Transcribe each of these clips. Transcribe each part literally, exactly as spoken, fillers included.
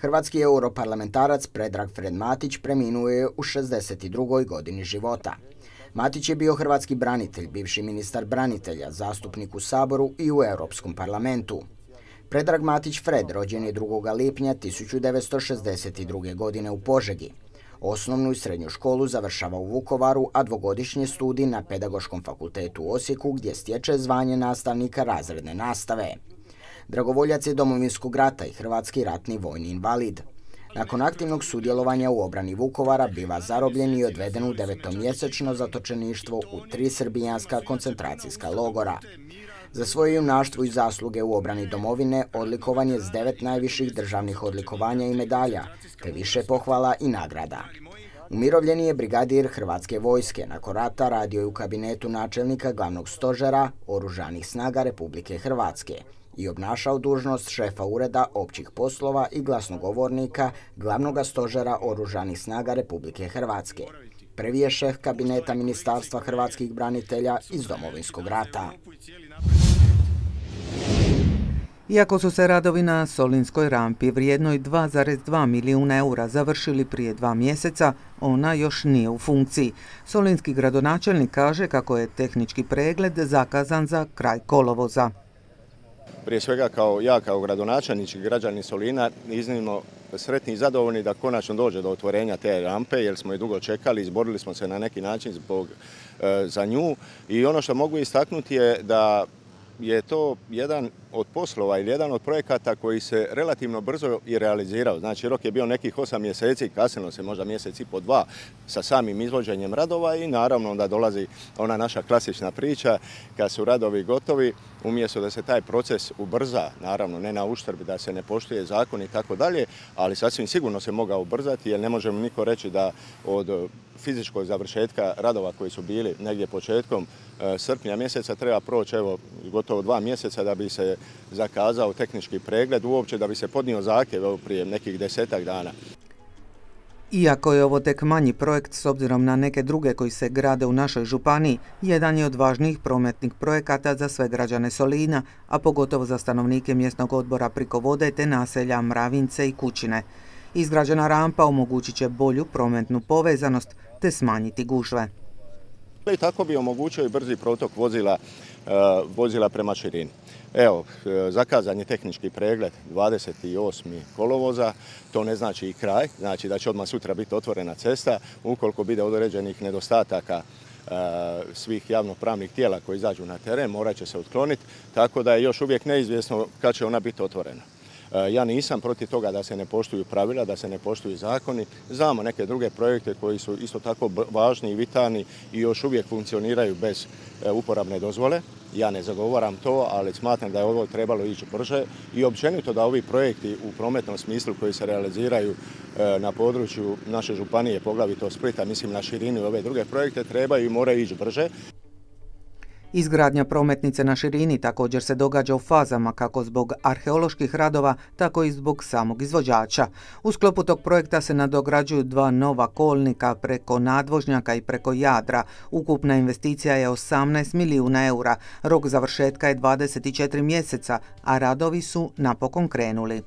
Hrvatski europarlamentarac Predrag Fred Matić preminuo je u šezdeset drugoj godini života. Matić je bio hrvatski branitelj, bivši ministar branitelja, zastupnik u Saboru i u Europskom parlamentu. Predrag Matić Fred rođen je drugog lipnja tisuću devetsto šezdeset druge. godine u Požegi. Osnovnu i srednju školu završava u Vukovaru, a dvogodišnji studij na Pedagoškom fakultetu u Osijeku, gdje stječe zvanje nastavnika razredne nastave. Dragovoljac je Domovinskog rata i hrvatski ratni vojni invalid. Nakon aktivnog sudjelovanja u obrani Vukovara biva zarobljen i odveden u devetomjesečno zatočeništvo u tri srbijanska koncentracijska logora. Za svoje junaštvo i zasluge u obrani domovine odlikovan je s devet najviših državnih odlikovanja i medalja, te više pohvala i nagrada. Umirovljeni je brigadir Hrvatske vojske, nakon rata radio je u kabinetu načelnika glavnog stožera Oružanih snaga Republike Hrvatske i obnašao dužnost šefa ureda općih poslova i glasnogovornika glavnog stožera Oružanih snaga Republike Hrvatske. Prvi je šef kabineta Ministarstva hrvatskih branitelja iz Domovinskog rata. Iako su se radovi na Solinskoj rampi vrijednoj dva zarez dva milijuna eura završili prije dva mjeseca, ona još nije u funkciji. Solinski gradonačelnik kaže kako je tehnički pregled zakazan za kraj kolovoza. Prije svega kao ja kao gradonačelnik i građani Solina iznimno sretni i zadovoljni da konačno dođe do otvorenja te rampe, jer smo je dugo čekali, izborili smo se na neki način zbog, e, za nju. I ono što mogu istaknuti je da je to jedan od poslova ili jedan od projekata koji se relativno brzo i realizirao. Znači, rok je bio nekih osam mjeseci, kasnilo se možda mjesec i po dva sa samim izvođenjem radova i naravno onda dolazi ona naša klasična priča kad su radovi gotovi, umjesto da se taj proces ubrza, naravno ne na uštrb da se ne poštuje zakon i tako dalje, ali sasvim sigurno se mogao ubrzati jer ne možemo niko reći da od fizičkog završetka radova koji su bili negdje početkom srpnja mjeseca treba proći evo gotovo dva mjeseca da bi se zakazao tehnički pregled, uopće da bi se podnio zahtjev prije nekih desetak dana. Iako je ovo tek manji projekt s obzirom na neke druge koji se grade u našoj županiji, jedan je od važnijih prometnih projekata za sve građane Solina, a pogotovo za stanovnike mjesnog odbora Priko vode te naselja Mravince i Kućine. Izgrađena rampa omogućit će bolju prometnu povezanost te smanjiti gužve. I tako bi omogućio i brzi protok vozila, vozila prema širini. Evo, zakazan je tehnički pregled dvadeset osmog kolovoza, to ne znači i kraj, znači da će odmah sutra biti otvorena cesta, ukoliko bude određenih nedostataka svih javnopravnih tijela koji izađu na teren, morat će se otkloniti, tako da je još uvijek neizvjesno kad će ona biti otvorena. Ja nisam protiv toga da se ne poštuju pravila, da se ne poštuju zakoni. Znamo neke druge projekte koji su isto tako važni i vitalni i još uvijek funkcioniraju bez uporabne dozvole. Ja ne zagovaram to, ali smatram da je ovo trebalo ići brže i općenito da ovi projekti u prometnom smislu koji se realiziraju na području naše županije, poglavito Splita, mislim na širini ove druge projekte, trebaju i moraju ići brže. Izgradnja prometnice na širini također se događa u fazama kako zbog arheoloških radova, tako i zbog samog izvođača. U sklopu tog projekta se nadograđuju dva nova kolnika preko nadvožnjaka i preko Jadra. Ukupna investicija je osamnaest milijuna eura, rok završetka je dvadeset četiri mjeseca, a radovi su napokon krenuli.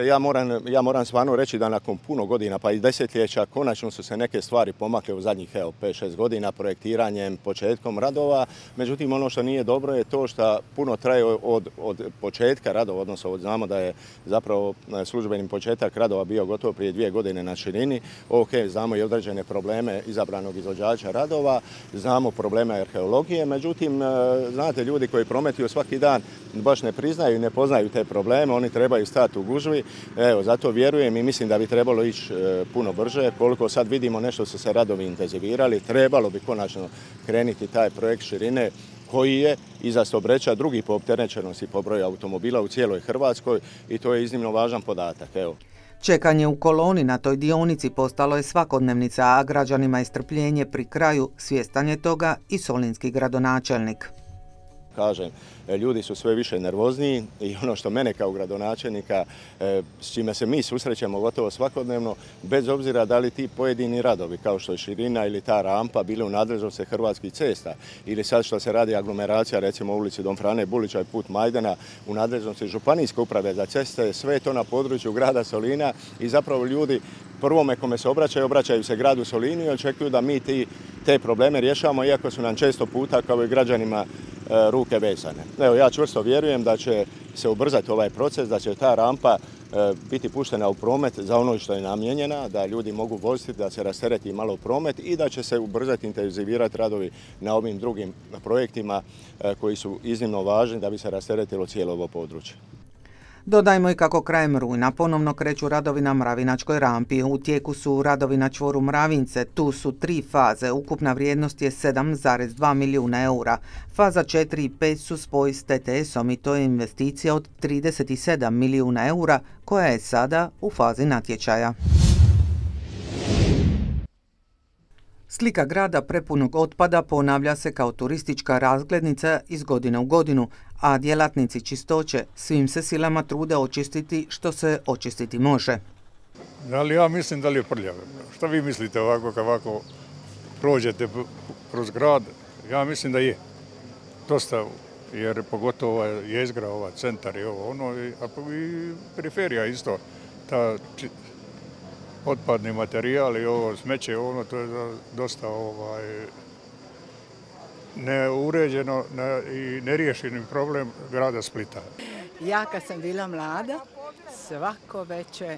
Ja moram, ja moram stvarno reći da nakon puno godina pa i desetljeća konačno su se neke stvari pomakle u zadnjih pet šest godina projektiranjem, početkom radova. Međutim, ono što nije dobro je to što puno traje od, od početka radova, odnosno od, znamo da je zapravo službeni početak radova bio gotovo prije dvije godine na širini. Ok, znamo i određene probleme izabranog izvođača radova, znamo probleme arheologije, međutim, znate, ljudi koji prometuju svaki dan baš ne priznaju i ne poznaju te probleme, oni trebaju stati u gužvi. Evo, zato vjerujem i mislim da bi trebalo ići e, puno brže. Koliko sad vidimo nešto su se radovi intenzivirali, trebalo bi konačno krenuti taj projekt širine koji je iza Stobreča drugi po opterećenosti po broju automobila u cijeloj Hrvatskoj i to je iznimno važan podatak. Evo. Čekanje u koloni na toj dionici postalo je svakodnevnica, a građanima je strpljenje pri kraju, svjestan je toga i solinski gradonačelnik. kažem, ljudi su sve više nervozniji i ono što mene kao gradonačelnika, s čime se mi susrećemo gotovo svakodnevno, bez obzira da li ti pojedini radovi, kao što je širina ili ta rampa, bili u nadležnosti Hrvatskih cesta, ili sad što se radi aglomeracija, recimo u ulici Don Frane Bulića i put Majdana, u nadležnosti Županijske uprave za ceste, sve je to na području grada Solina i zapravo ljudi prvome kome se obraćaju, obraćaju se gradu Solinu i očekuju da mi ti, te probleme rješavamo, iako su nam često puta, kao i građanima, ruke vezane. Evo, ja čvrsto vjerujem da će se ubrzati ovaj proces, da će ta rampa biti puštena u promet za ono što je namijenjena, da ljudi mogu voziti, da se rastereti malo promet i da će se ubrzati, intenzivirati radovi na ovim drugim projektima koji su iznimno važni da bi se rasteretilo cijelo ovo područje. Dodajmo i kako krajem rujna ponovno kreću radovi na Mravinačkoj rampi. U tijeku su radovi na čvoru Mravince. Tu su tri faze. Ukupna vrijednost je sedam zarez dva milijuna eura. Faza četiri i pet su spoj s T T S-om i to je investicija od trideset sedam milijuna eura koja je sada u fazi natječaja. Slika grada prepunog otpada ponavlja se kao turistička razglednica iz godine u godinu, a djelatnici čistoće svim se silama trude očistiti što se očistiti može. Ali ja mislim da li je prljavo. Šta vi mislite ovako kad ovako prođete kroz grad? Ja mislim da je. Dosta, jer pogotovo ova jezgra, ova centar i ovo ono, a i periferija isto. Ta otpadni materijal i ovo smeće, ono, to je dosta ovaj, neuređeno i neriješeni problem grada Splita. Ja kad sam bila mlada, svako večer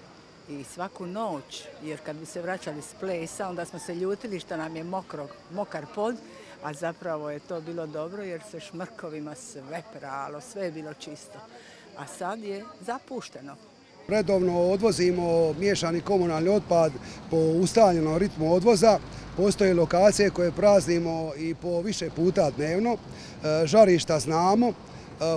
i svaku noć, jer kad bi se vraćali s plesa, onda smo se ljutili što nam je mokro, mokar pod, a zapravo je to bilo dobro jer se šmrkovima sve pralo, sve je bilo čisto. A sad je zapušteno. Redovno odvozimo miješani komunalni otpad po ustaljenom ritmu odvoza. Postoje lokacije koje praznimo i po više puta dnevno. Žarišta znamo,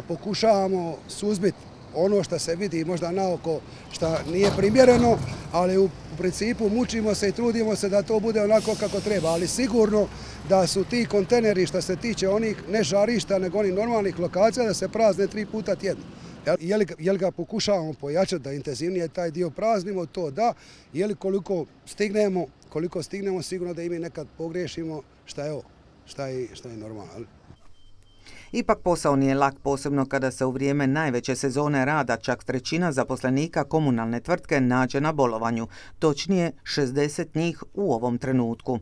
pokušavamo suzbiti ono što se vidi možda naoko što nije primjereno, ali u principu mučimo se i trudimo se da to bude onako kako treba. Ali sigurno da su ti kontejneri što se tiče onih ne žarišta nego onih normalnih lokacija da se prazne tri puta tjedno. Je li, je li ga pokušavamo pojačati da intenzivnije taj dio praznimo, to da, je li koliko stignemo, koliko stignemo sigurno da i mi nekad pogriješimo šta je ovo, šta je, šta je normalno. Ipak posao nije lak, posebno kada se u vrijeme najveće sezone rada čak trećina zaposlenika komunalne tvrtke nađe na bolovanju, točnije šezdeset njih u ovom trenutku.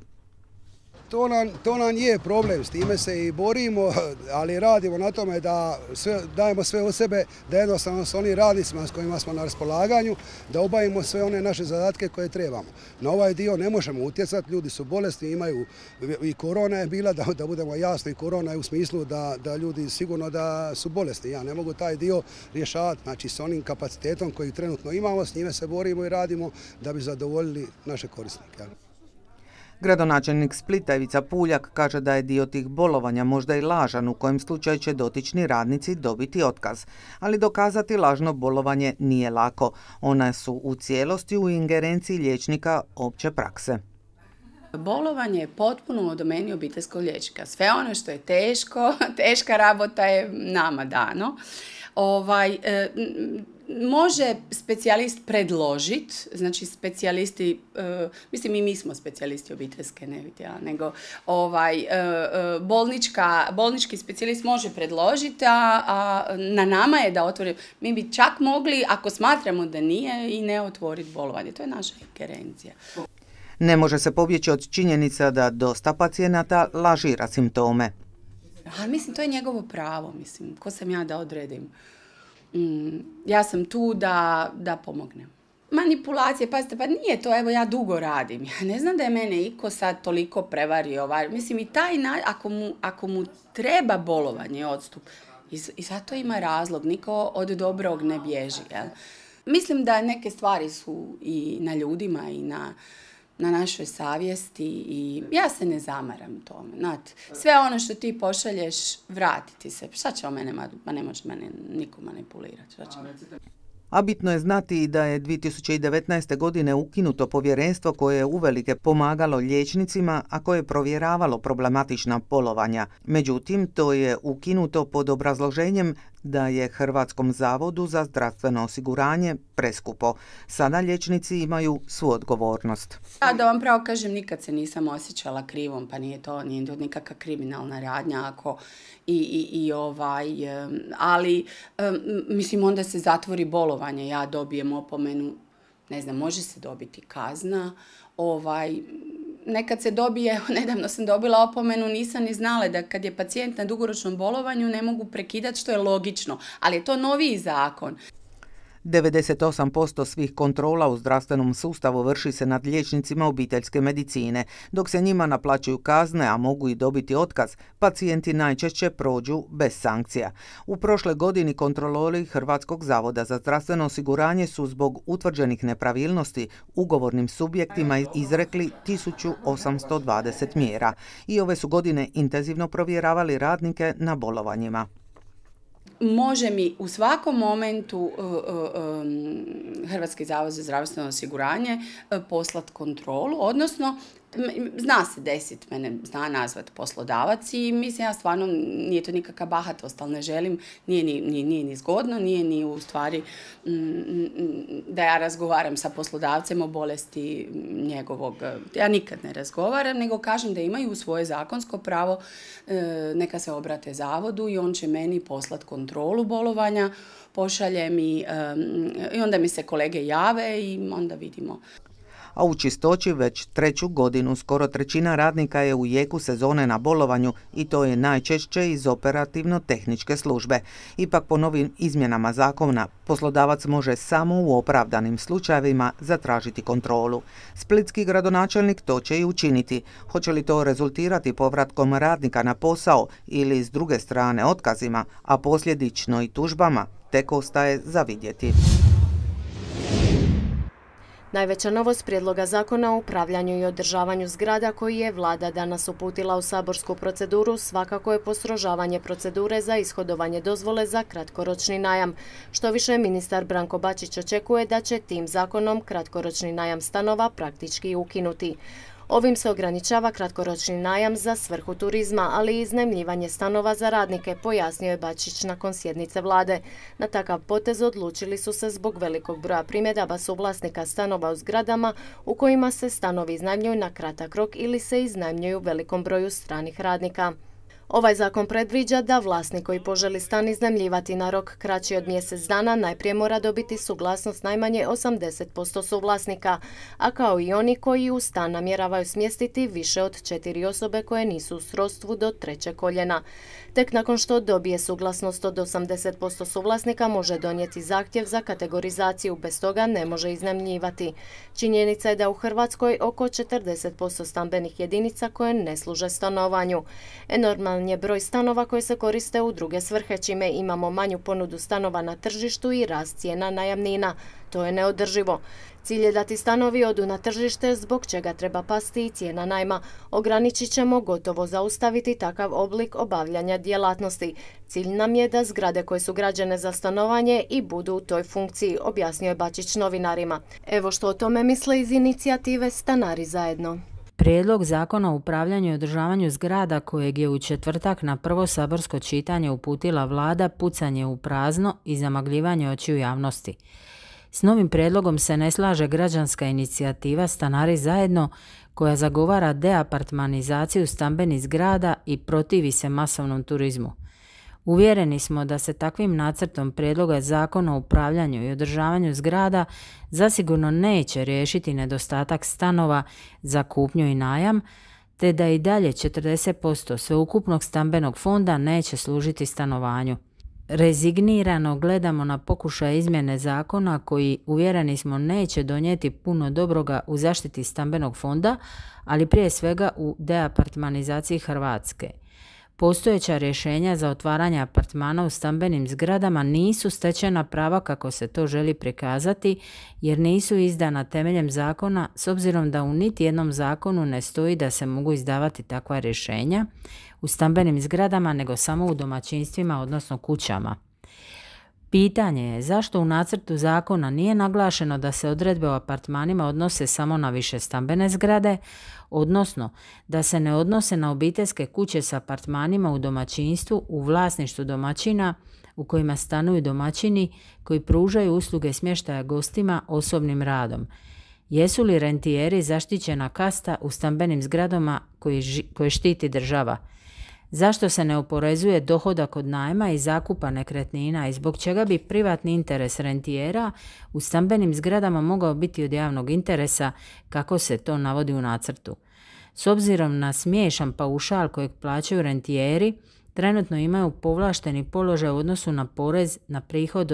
To nam, to nam je problem, s time se i borimo, ali radimo na tome da sve, dajemo sve od sebe, da jednostavno s onim radnicima s kojima smo na raspolaganju, da obavimo sve one naše zadatke koje trebamo. Na ovaj dio ne možemo utjecati, ljudi su bolesni, imaju i korona je bila, da, da budemo jasni, korona je u smislu da, da ljudi sigurno da su bolesni. Ja ne mogu taj dio rješavati, znači s onim kapacitetom koji trenutno imamo, s njime se borimo i radimo da bi zadovoljili naše korisnike. Gradonačelnik Splita Ivica Puljak kaže da je dio tih bolovanja možda i lažan, u kojem slučaju će dotični radnici dobiti otkaz. Ali dokazati lažno bolovanje nije lako. Ona su u cijelosti u ingerenciji liječnika opće prakse. Bolovanje je potpuno u domeni obiteljskog liječnika. Sve ono što je teško, teška rabota je nama dano. Ovaj, e, može specijalist predložiti, znači specijalisti, e, mislim i mi smo specijalisti obiteljske, ne vidjela, nego ovaj, e, bolnička, bolnički specijalist može predložiti, a, a na nama je da otvori. Mi bi čak mogli, ako smatramo da nije, i ne otvoriti bolovanje. To je naša ingerencija. Ne može se pobjeći od činjenica da dosta pacijenata lažira simptome. Ali mislim, to je njegovo pravo, mislim, ko sam ja da odredim. Mm, ja sam tu da, da pomognem. Manipulacije, pazite, pa nije to, evo ja dugo radim. Ja ne znam da je mene iko sad toliko prevario. Ovaj. Mislim, i taj, ako mu, ako mu treba bolovanje, odstup, i, i zato ima razlog, niko od dobrog ne bježi. Jel? Mislim da neke stvari su i na ljudima i na... na našoj savjesti i ja se ne zamaram tome. Znate, sve ono što ti pošalješ, vratiti se. Šta će o mene, ma ne može mene niko manipulirati. A bitno je znati da je dvije tisuće devetnaeste. godine ukinuto povjerenstvo koje je uvelike pomagalo liječnicima, a koje je provjeravalo problematična bolovanja. Međutim, to je ukinuto pod obrazloženjem da je Hrvatskom zavodu za zdravstveno osiguranje preskupo. Sada liječnici imaju svu odgovornost. Ja, da vam pravo kažem, nikad se nisam osjećala krivom, pa nije to, nije to nikakva kriminalna radnja ako i, i, i ovaj, ali mislim onda se zatvori bolovanje, ja dobijem opomenu, ne znam, može se dobiti kazna, ovaj, nekad se dobije, nedavno sam dobila opomenu, nisam ni znala da kad je pacijent na dugoročnom bolovanju ne mogu prekidati, što je logično, ali je to noviji zakon. devedeset osam posto svih kontrola u zdravstvenom sustavu vrši se nad liječnicima obiteljske medicine. Dok se njima naplaćuju kazne, a mogu i dobiti otkaz, pacijenti najčešće prođu bez sankcija. U prošloj godini kontrolori Hrvatskog zavoda za zdravstveno osiguranje su zbog utvrđenih nepravilnosti ugovornim subjektima izrekli tisuću osamsto dvadeset mjera i ove su godine intenzivno provjeravali radnike na bolovanjima. Može mi u svakom momentu uh, uh, um, Hrvatski zavod za zdravstveno osiguranje uh, poslati kontrolu, odnosno zna se desiti, mene zna nazvat poslodavac i mislim ja stvarno nije to nikakva bahatost, ali ne želim, nije ni, nije, nije ni zgodno, nije ni u stvari mm, da ja razgovaram sa poslodavcem o bolesti njegovog. Ja nikad ne razgovaram, nego kažem da imaju svoje zakonsko pravo, e, neka se obrate zavodu i on će meni poslati kontrolu bolovanja, pošalje mi e, i onda mi se kolege jave i onda vidimo. A u Čistoći već treću godinu skoro trećina radnika je u jeku sezone na bolovanju i to je najčešće iz operativno-tehničke službe. Ipak po novim izmjenama zakona poslodavac može samo u opravdanim slučajevima zatražiti kontrolu. Splitski gradonačelnik to će i učiniti. Hoće li to rezultirati povratkom radnika na posao ili s druge strane otkazima, a posljedično i tužbama, tek ostaje za vidjeti. Najveća novost prijedloga zakona o upravljanju i održavanju zgrada koji je vlada danas uputila u saborsku proceduru svakako je postrožavanje procedure za ishodovanje dozvole za kratkoročni najam. Što više, ministar Branko Bačić očekuje da će tim zakonom kratkoročni najam stanova praktički ukinuti. Ovim se ograničava kratkoročni najam za svrhu turizma, ali i iznajmljivanje stanova za radnike, pojasnio je Bačić nakon sjednice vlade. Na takav potez odlučili su se zbog velikog broja primjedaba suvlasnika stanova u zgradama u kojima se stanovi iznajmljuju na kratak rok ili se iznajmljuju velikom broju stranih radnika. Ovaj zakon predviđa da vlasnik koji poželi stan iznajmljivati na rok kraći od mjesec dana najprije mora dobiti suglasnost najmanje osamdeset posto suvlasnika, a kao i oni koji u stan namjeravaju smjestiti više od četiri osobe koje nisu u srodstvu do trećeg koljena. Tek nakon što dobije suglasnost od osamdeset posto suvlasnika može donijeti zahtjev za kategorizaciju, bez toga ne može iznajmljivati. Činjenica je da u Hrvatskoj oko četrdeset posto stambenih jedinica koje ne služe stanovanju. Enorman je broj stanova koje se koriste u druge svrhe, čime imamo manju ponudu stanova na tržištu i rast cijena najamnina. To je neodrživo. Cilj je da ti stanovi odu na tržište, zbog čega treba pasti i cijena najma. Ograničit ćemo, gotovo zaustaviti takav oblik obavljanja djelatnosti. Cilj nam je da zgrade koje su građene za stanovanje i budu u toj funkciji, objasnio je Bačić novinarima. Evo što o tome misle iz inicijative Stanari zajedno. Prijedlog zakona o upravljanju i održavanju zgrada kojeg je u četvrtak na prvo saborsko čitanje uputila vlada pucanje u prazno i zamagljivanje očiju javnosti. S novim prijedlogom se ne slaže građanska inicijativa Stanari zajedno koja zagovara deapartmanizaciju stambenih zgrada i protivi se masovnom turizmu. Uvjereni smo da se takvim nacrtom prijedloga zakona o upravljanju i održavanju zgrada zasigurno neće riješiti nedostatak stanova za kupnju i najam, te da i dalje četrdeset posto sveukupnog stambenog fonda neće služiti stanovanju. Rezignirano gledamo na pokušaj izmjene zakona koji, uvjereni smo, neće donijeti puno dobroga u zaštiti stambenog fonda, ali prije svega u deapartmanizaciji Hrvatske. Postojeća rješenja za otvaranje apartmana u stambenim zgradama nisu stečena prava kako se to želi prikazati, jer nisu izdana temeljem zakona, s obzirom da u niti jednom zakonu ne stoji da se mogu izdavati takva rješenja u stambenim zgradama, nego samo u domaćinstvima, odnosno kućama. Pitanje je zašto u nacrtu zakona nije naglašeno da se odredbe o apartmanima odnose samo na višestambene zgrade, odnosno da se ne odnose na obiteljske kuće s apartmanima u domaćinstvu u vlasništvu domaćina u kojima stanuju domaćini koji pružaju usluge smještaja gostima osobnim radom. Jesu li rentijeri zaštićena kasta u stambenim zgradama koje štiti država? Zašto se ne oporezuje dohodak od najma i zakupa nekretnina i zbog čega bi privatni interes rentijera u stambenim zgradama mogao biti od javnog interesa kako se to navodi u nacrtu? S obzirom na smiješan paušal kojeg plaćaju rentijeri, trenutno imaju povlašteni položaj u odnosu na porez na prihod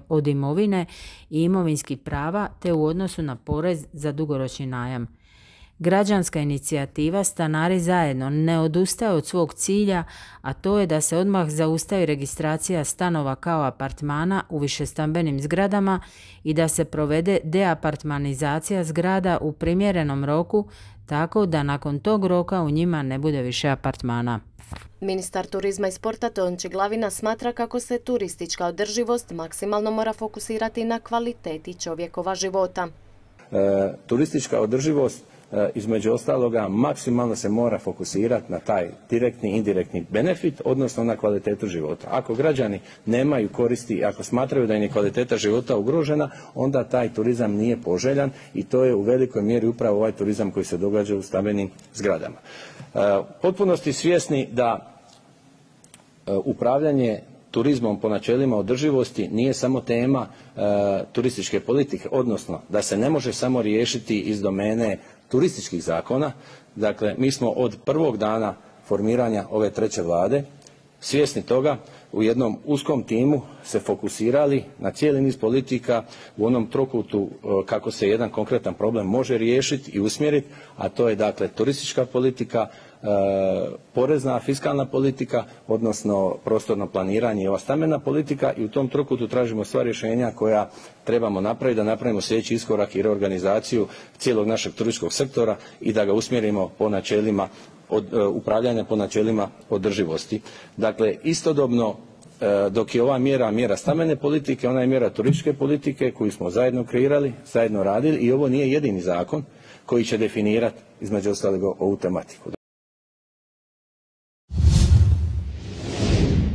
od imovine i imovinskih prava te u odnosu na porez za dugoročni najam. Građanska inicijativa Stanari zajedno ne odustaje od svog cilja, a to je da se odmah zaustavi registracija stanova kao apartmana u višestambenim zgradama i da se provede deapartmanizacija zgrada u primjerenom roku, tako da nakon tog roka u njima ne bude više apartmana. Ministar turizma i sporta Tonči Glavina smatra kako se turistička održivost maksimalno mora fokusirati na kvaliteti čovjekova života. E, turistička održivost između ostaloga maksimalno se mora fokusirati na taj direktni i indirektni benefit, odnosno na kvalitetu života. Ako građani nemaju koristi i ako smatraju da im je kvaliteta života ugrožena, onda taj turizam nije poželjan i to je u velikoj mjeri upravo ovaj turizam koji se događa u stambenim zgradama. Potpunosti svjesni da upravljanje turizmom po načelima održivosti nije samo tema e, turističke politike, odnosno da se ne može samo riješiti iz domene turističkih zakona. Dakle, mi smo od prvog dana formiranja ove treće vlade svjesni toga, u jednom uskom timu se fokusirali na cijeli niz politika u onom trokutu kako se jedan konkretan problem može riješiti i usmjeriti, a to je dakle turistička politika, e, porezna, fiskalna politika, odnosno prostorno planiranje i ova stambena politika, i u tom trokutu tražimo sva rješenja koja trebamo napraviti da napravimo sljedeći iskorak i reorganizaciju cijelog našeg turističkog sektora i da ga usmjerimo po načelima od uh, upravljanja po načelima održivosti. Dakle, istodobno uh, dok je ova mjera mjera stambene politike, ona je mjera turističke politike koju smo zajedno kreirali, zajedno radili, i ovo nije jedini zakon koji će definirati između ostalog ovu tematiku.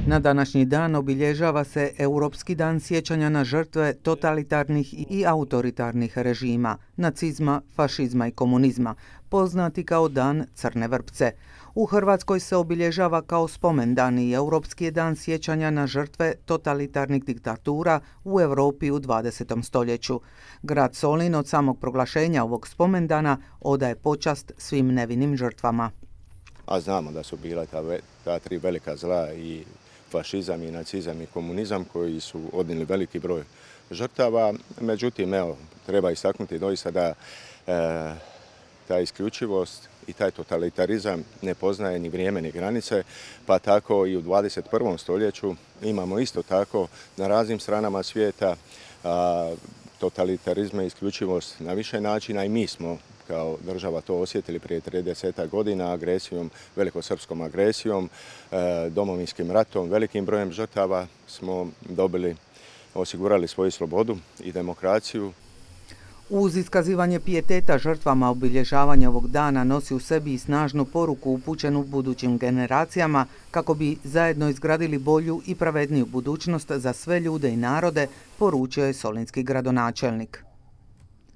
Na današnji dan obilježava se Europski dan sjećanja na žrtve totalitarnih i autoritarnih režima, nacizma, fašizma i komunizma, poznati kao Dan Crne vrpce. U Hrvatskoj se obilježava kao spomendan i Europski dan sjećanja na žrtve totalitarnih diktatura u Europi u dvadesetom stoljeću. Grad Solin od samog proglašenja ovog spomendana odaje počast svim nevinim žrtvama. A znamo da su bila ta, ta tri velika zla, i fašizam i nacizam i komunizam, koji su odnijeli veliki broj žrtava. Međutim, evo, treba istaknuti doista da e, ta isključivost i taj totalitarizam ne poznaje ni vrijeme ni granice, pa tako i u dvadeset prvom stoljeću imamo isto tako na raznim stranama svijeta a, totalitarizma i isključivost na više načina, i mi smo kao država to osjetili prije trideset godina agresijom, velikosrpskom agresijom, domovinskim ratom, velikim brojem žrtava smo dobili, osigurali svoju slobodu i demokraciju. Uz iskazivanje pijeteta žrtvama, obilježavanje ovog dana nosi u sebi i snažnu poruku upućenu budućim generacijama kako bi zajedno izgradili bolju i pravedniju budućnost za sve ljude i narode, poručio je solinski gradonačelnik.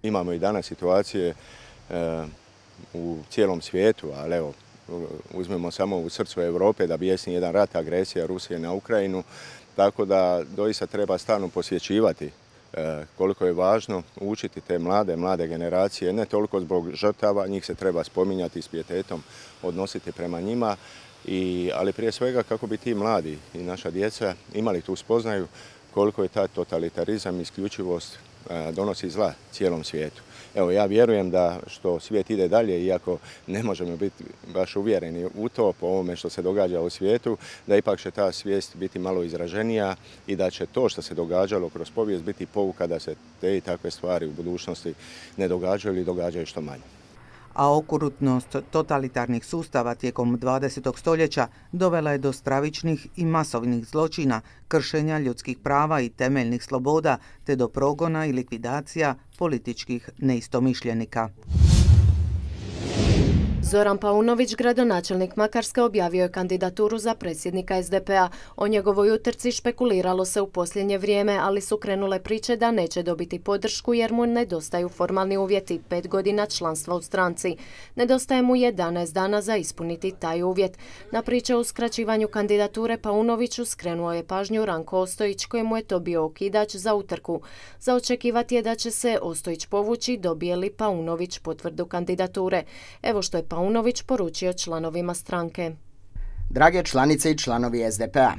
Imamo i danas situacije e, u cijelom svijetu, ali evo, uzmemo samo u srcu Europe da bijesni jedan rat, agresija Rusije na Ukrajinu, tako da doista treba stalno posjećivati e, koliko je važno učiti te mlade, mlade generacije, ne toliko zbog žrtava, njih se treba spominjati s pijetetom, odnositi prema njima, i, ali prije svega kako bi ti mladi i naša djeca imali tu spoznaju koliko je taj totalitarizam i isključivost donosi zla cijelom svijetu. Evo, ja vjerujem da što svijet ide dalje, iako ne možemo biti baš uvjereni u to po ovome što se događa u svijetu, da ipak će ta svijest biti malo izraženija i da će to što se događalo kroz povijest biti pouka da se te i takve stvari u budućnosti ne događaju ili događaju što manje. a okrutnost totalitarnih sustava tijekom dvadesetog stoljeća dovela je do stravičnih i masovnih zločina, kršenja ljudskih prava i temeljnih sloboda, te do progona i likvidacija političkih neistomišljenika. Zoran Paunović, gradonačelnik Makarske, objavio je kandidaturu za predsjednika es de pe a. O njegovoj utrci špekuliralo se u posljednje vrijeme, ali su krenule priče da neće dobiti podršku jer mu nedostaju formalni uvjeti, pet godina članstva u stranci. Nedostaje mu jedanaest dana za ispuniti taj uvjet. Na priče o uskraćivanju kandidature Paunoviću skrenuo je pažnju Ranko Ostojić, kojemu je to bio okidač za utrku. Za očekivati je da će se Ostojić povući, dobije li Paunović potvrdu kandidature. Evo što je Paunović poručio članovima stranke. Drage članice i članovi es de pe a,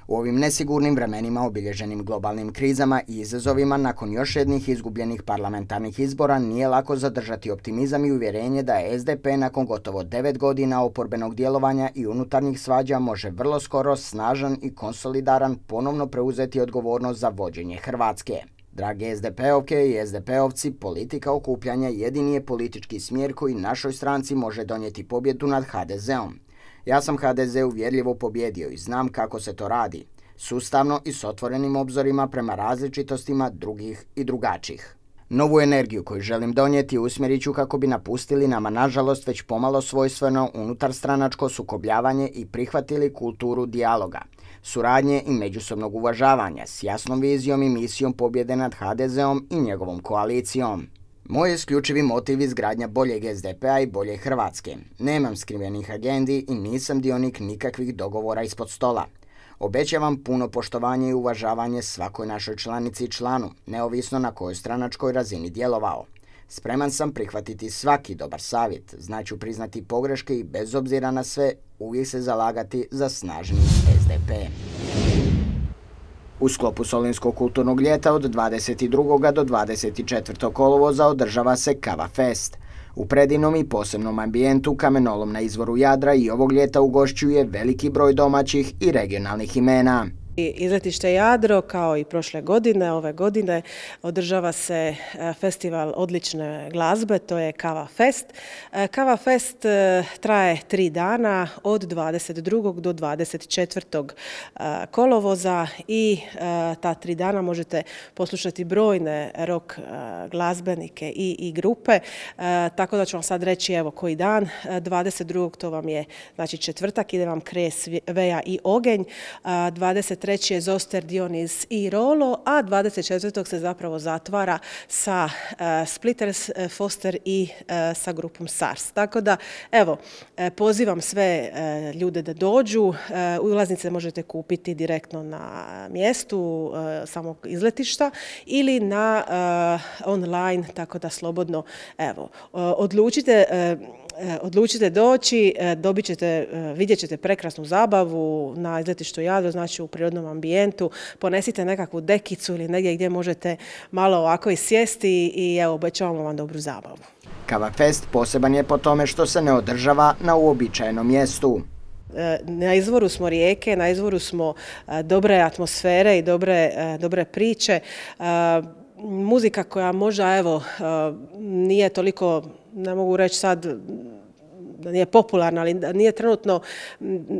u ovim nesigurnim vremenima obilježenim globalnim krizama i izazovima nakon još jednih izgubljenih parlamentarnih izbora nije lako zadržati optimizam i uvjerenje da je es de pe nakon gotovo devet godina oporbenog djelovanja i unutarnjih svađa može vrlo skoro snažan i konsolidaran ponovno preuzeti odgovornost za vođenje Hrvatske. Drage es de pe ovke i es de pe ovci, politika okupljanja jedini je politički smjer koji našoj stranci može donijeti pobjedu nad ha de zeom. Ja sam ha de ze uvjerljivo pobjedio i znam kako se to radi, sustavno i s otvorenim obzorima prema različitostima drugih i drugačijih. Novu energiju koju želim donijeti usmjerit ću kako bi napustili nama nažalost već pomalo svojstveno unutarstranačko sukobljavanje i prihvatili kulturu dijaloga, suradnje i međusobnog uvažavanja s jasnom vizijom i misijom pobjede nad ha de zeom i njegovom koalicijom. Moj isključivi motiv izgradnja boljeg es de pe a i bolje Hrvatske. Nemam skrivenih agendi i nisam dionik nikakvih dogovora ispod stola. Obećavam puno poštovanje i uvažavanje svakoj našoj članici i članu, neovisno na kojoj stranačkoj razini djelovao. Spreman sam prihvatiti svaki dobar savjet, znaću priznati pogreške i bez obzira na sve uvijek se zalagati za snažni es de pe. U sklopu Solinskog kulturnog ljeta od dvadeset drugog do dvadeset četvrtog kolovoza održava se Kava Fest. U predivnom i posebnom ambijentu kamenolom na izvoru Jadra i ovog ljeta ugošćuje veliki broj domaćih i regionalnih imena. Izletište Jadro, kao i prošle godine, ove godine održava se festival odlične glazbe, to je Kava Fest. Kava Fest traje tri dana od dvadeset drugog do dvadeset četvrtog kolovoza i ta tri dana možete poslušati brojne rock glazbenike i, i grupe, tako da ću vam sad reći evo koji dan. dvadeset drugog to vam je znači četvrtak, ide vam Kres, Veja i Ogenj, dvadeset treći je Zoster, Dionis i Rolo, a dvadeset četvrtog se zapravo zatvara sa uh, Splitters, uh, Foster i uh, sa grupom Sars. Tako da, evo, uh, pozivam sve uh, ljude da dođu. Uh, ulaznice možete kupiti direktno na mjestu uh, samog izletišta ili na uh, online, tako da slobodno, evo, uh, odlučite uh, Odlučite doći, dobit ćete, vidjet ćete prekrasnu zabavu na izletištu Jadro, znači u prirodnom ambijentu. Ponesite nekakvu dekicu ili negdje gdje možete malo ovako i sjesti i evo, obećavamo vam dobru zabavu. Kava Fest poseban je po tome što se ne održava na uobičajenom mjestu. Na izvoru smo rijeke, na izvoru smo dobre atmosfere i dobre, dobre priče. Muzika koja možda, evo, nije toliko, ne mogu reći sad da nije popularna, ali nije trenutno,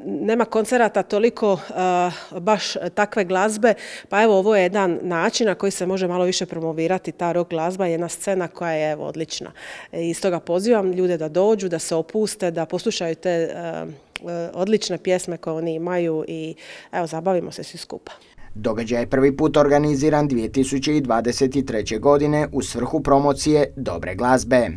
nema koncerata toliko uh, baš takve glazbe, pa evo ovo je jedan način na koji se može malo više promovirati ta rock glazba, jedna scena koja je evo odlična. I stoga pozivam ljude da dođu, da se opuste, da poslušaju te uh, odlične pjesme koje oni imaju i evo zabavimo se svi skupa. Događaj je prvi put organiziran dvije tisuće dvadeset treće. godine u svrhu promocije dobre glazbe.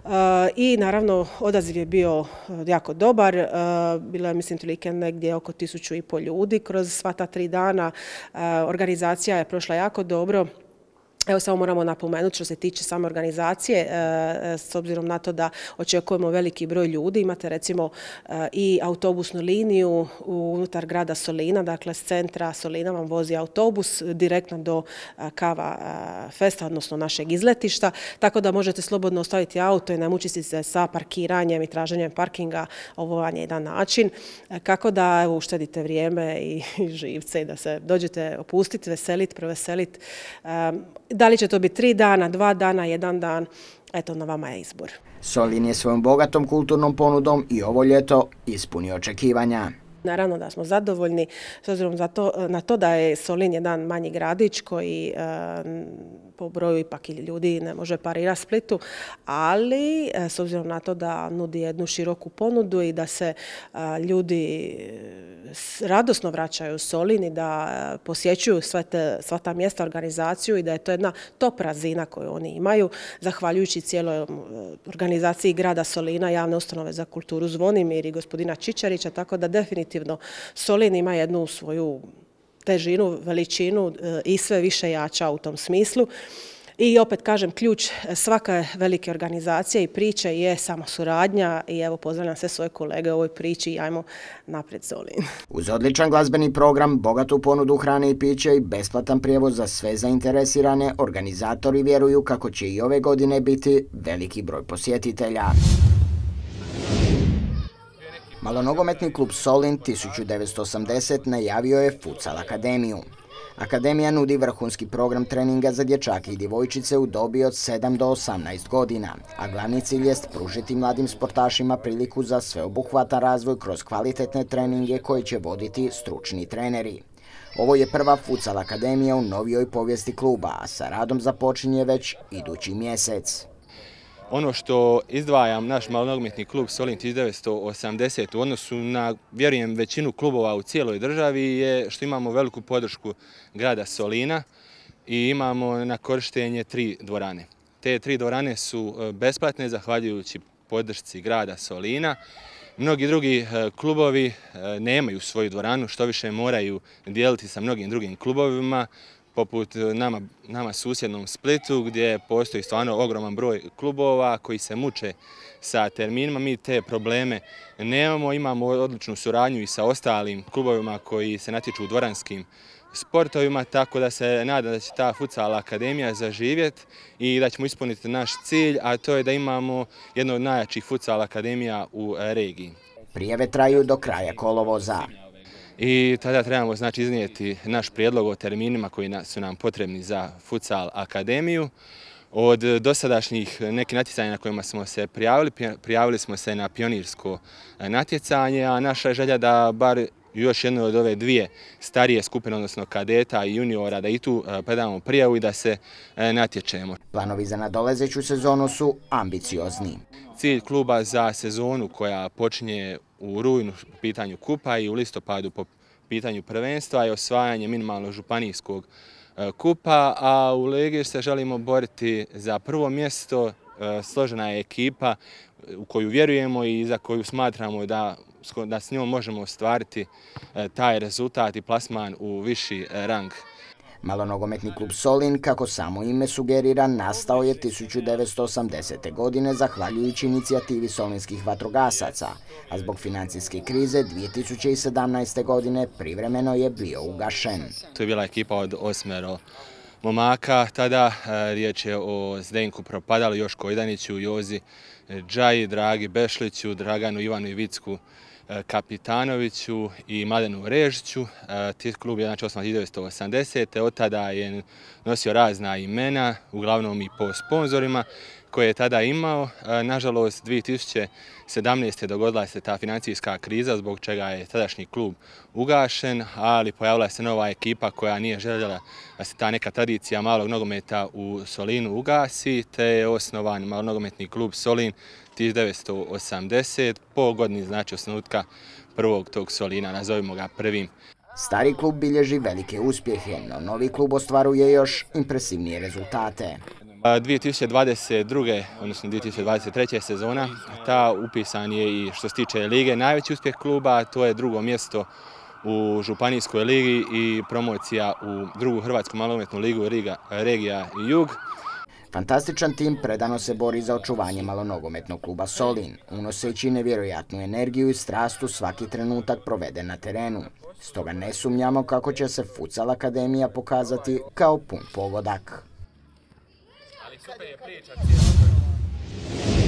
Uh, I naravno odaziv je bio jako dobar, uh, bilo je mislim otprilike negdje oko tisuću i pol ljudi kroz sva ta tri dana, uh, organizacija je prošla jako dobro. Evo samo moramo napomenuti što se tiče same organizacije, s obzirom na to da očekujemo veliki broj ljudi. Imate recimo i autobusnu liniju unutar grada Solina, dakle s centra Solina vam vozi autobus direktno do Kava Festa, odnosno našeg izletišta, tako da možete slobodno ostaviti auto i ne mučiti se sa parkiranjem i traženjem parkinga. Ovo vam je jedan način kako da evo, uštedite vrijeme i živce i da se dođete opustiti, veseliti, proveseliti. Da li će to biti tri dana, dva dana, jedan dan, eto na vama je izbor. Solin je svojom bogatom kulturnom ponudom i ovo ljeto ispunio očekivanja. Naravno da smo zadovoljni s obzirom na to da je Solin jedan manji gradić koji po broju ipak i ljudi ne može parirati Splitu, ali s obzirom na to da nudi jednu široku ponudu i da se ljudi radosno vraćaju u Solin i da posjećuju sve te, sva ta mjesta, organizaciju i da je to jedna top razina koju oni imaju, zahvaljujući cijeloj organizaciji grada Solina, javne ustanove za kulturu Zvonimir i gospodina Čičarića, tako da definitivno Solin ima jednu svoju težinu, veličinu i sve više jača u tom smislu. I opet kažem, ključ svake velike organizacije i priče je samo suradnja i evo pozdravljam sve svoje kolege u ovoj priči i ajmo naprijed Solin. Uz odličan glazbeni program, bogatu ponudu hrane i pića i besplatan prijevoz za sve zainteresirane, organizatori vjeruju kako će i ove godine biti veliki broj posjetitelja. Malonogometni klub Solin tisuću devetsto osamdeset najavio je Futsal akademiju. Akademija nudi vrhunski program treninga za dječake i djevojčice u dobi od sedam do osamnaest godina, a glavni cilj jest pružiti mladim sportašima priliku za sveobuhvatan razvoj kroz kvalitetne treninge koje će voditi stručni treneri. Ovo je prva Futsal akademija u novijoj povijesti kluba, a sa radom započinje već idući mjesec. Ono što izdvajam naš malonogometni klub Solin tisuću devetsto osamdeset u odnosu na, vjerujem, većinu klubova u cijeloj državi je što imamo veliku podršku grada Solina i imamo na korištenje tri dvorane. Te tri dvorane su besplatne zahvaljujući podršci grada Solina. Mnogi drugi klubovi nemaju svoju dvoranu, što više moraju dijeliti sa mnogim drugim klubovima, poput nama, nama susjednom Splitu gdje postoji stvarno ogroman broj klubova koji se muče sa terminima. Mi te probleme nemamo, imamo odličnu suradnju i sa ostalim klubovima koji se natječu u dvoranskim sportovima, tako da se nadam da će ta Futsal akademija zaživjeti i da ćemo ispuniti naš cilj, a to je da imamo jednu od najjačih Futsal akademija u regiji. Prijave traju do kraja kolovoza. I tada trebamo znači iznijeti naš prijedlog o terminima koji su nam potrebni za Futsal akademiju. Od dosadašnjih nekih natjecanja na kojima smo se prijavili, prijavili smo se na pionirsko natjecanje, a naša je želja da bar još jedno od ove dvije starije skupine, odnosno kadeta i juniora, da i tu predamo prijavu i da se natječemo. Planovi za nadolazeću sezonu su ambiciozni. Cilj kluba za sezonu koja počinje u rujnu po pitanju kupa i u listopadu po pitanju prvenstva je osvajanje minimalnog županijskog kupa, a u ligi se želimo boriti za prvo mjesto. Složena je ekipa u koju vjerujemo i za koju smatramo da, da s njom možemo ostvariti taj rezultat i plasman u viši rang. Malonogometni klub Solin, kako samo ime sugerira, nastao je tisuću devetsto osamdesete. godine zahvaljujući inicijativi solinskih vatrogasaca, a zbog financijske krize dvije tisuće sedamnaeste. godine privremeno je bio ugašen. To je bila ekipa od osmero momaka, tada riječ je o Zdenku Propadalu, Joško Idaniću, Jozi Džaji, Dragi Bešliću, Draganu Ivanu Ivicku Kapitanoviću i Mladenu Režiću. Ti klub je znači osnovan tisuću devetsto osamdesete. Od tada je nosio razna imena, uglavnom i po sponzorima koje je tada imao. Nažalost, dvije tisuće sedamnaeste. dogodila se ta financijska kriza zbog čega je tadašnji klub ugašen, ali pojavila se nova ekipa koja nije željela da se ta neka tradicija malog nogometa u Solinu ugasi, te je osnovan malonogometni klub Solin tisuću devetsto osamdesete. po godini znači osnutka prvog tog Solina, nazovimo ga prvim. Stari klub bilježi velike uspjehe, no novi klub ostvaruje još impresivnije rezultate. dvije tisuće dvadeset druge. odnosno dvije tisuće dvadeset treće. sezona, ta upisan je i što se tiče lige najveći uspjeh kluba, to je drugo mjesto u Županijskoj ligi i promocija u drugu Hrvatsku malonogometnu ligu Riga, regija i Jug. Fantastičan tim predano se bori za očuvanje malonogometnog kluba Solin, unoseći nevjerojatnu energiju i strastu svaki trenutak proveden na terenu. Stoga ne sumnjamo kako će se Futsal akademija pokazati kao pun pogodak. Ali super je priča cijela.